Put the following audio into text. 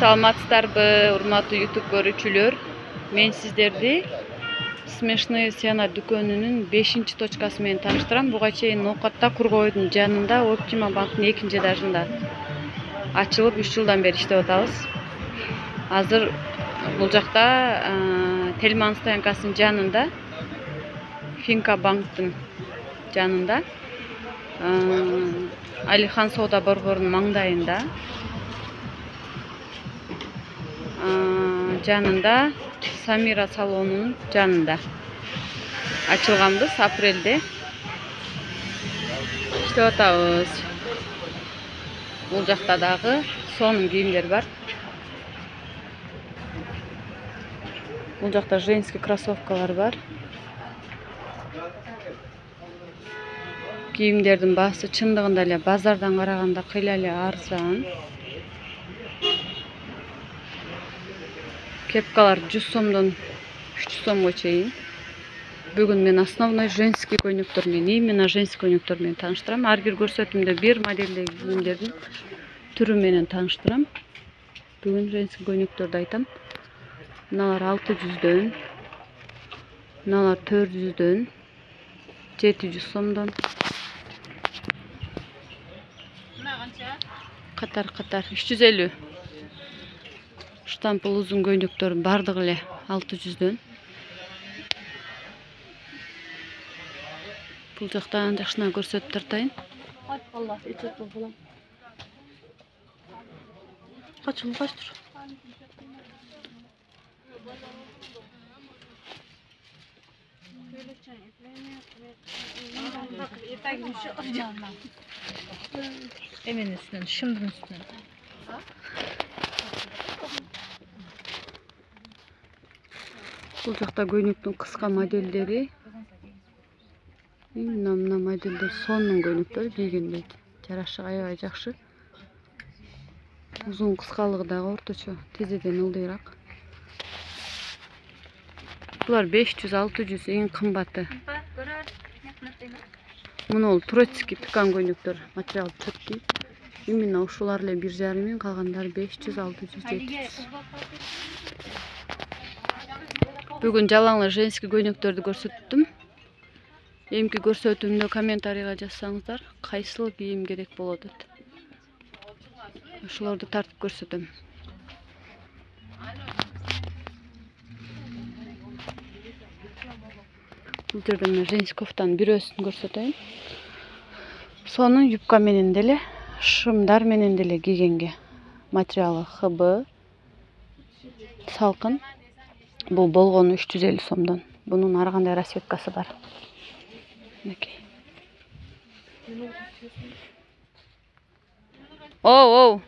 Саламатсыздарбы, урматтуу YouTube көрүүчүлөр. Мен сиздерди Смешные сена дүкөнүнүн 5-чи точкасы менен тааныштырам. Буга чейин Ноокатта Кургойдун жанында Оптима банктын 2-чи этажында ачылып 3 жылдан бери иштеп атабыз. Азыр бул жакта Тельман стоянкасынын жанында, Финка банктын жанында, Алихан соода борборунун маңдайында, жанында Самира салонунун жанында ачылганбыз. Апрелде иштеп атабыз. Бул жакта дагы сонун кийимдер бар. Бул жакта женский кроссовкалар бар. Кийимдердин баасы чындыгында эле базардан караганда кыйла эле арзан. Кепкалар 100 сомдон 300 сомго чейин. Бүгүн мен основной женский көйнөктөр менен, именно женский көйнөктөр менен тааныштырам. Ар бир көрсөтүмдө бир модельдеги кийимдердин түрү менен тааныштырам. Бүгүн женский көйнөктөрдү айтам. Мыналар 600дөн, мыналар 400дөн, 700 сомдон. Катар 350. Штампыл узун көйнөктөрдүн бардыгы эле 600дөн. Бул жактан жакшына көрсөтүп тартайын. Качтыр. Emin üstünden, şımdın üstünden. Бул жакта көйнөктүн кыска модельдери. Мына модельдер сонун көйнөктөр, кийгенде жарашы аябай жакшы. Узун кыскалыгы дагы орточо, тизеден ылдыйраак. Булар 500-600 эң кымбаты. Мына турецкий пикан көйнөктөр, материал четкий. Именно ушулар эле 1,5 миң, калгандары 500-600, 700. Бүгүн жалаңла женский көйнөктөрдү көрсөттүм. Эмки көрсөтүүмдө комментарийга жазсаңыздар, кайсыл кийим керек болот деп. Ошолорду тартып көрсөтөм. Бул жерде мен женский кофтанын бирөөсүн көрсөтөйүн. Сонун юбка менен деле, шымдар менен деле кийгенге. Материалы ХБ, салкын. Бул болгону 350 сомдон. Бунун ар кандай расцветкасы бар. Мынакей. Оу.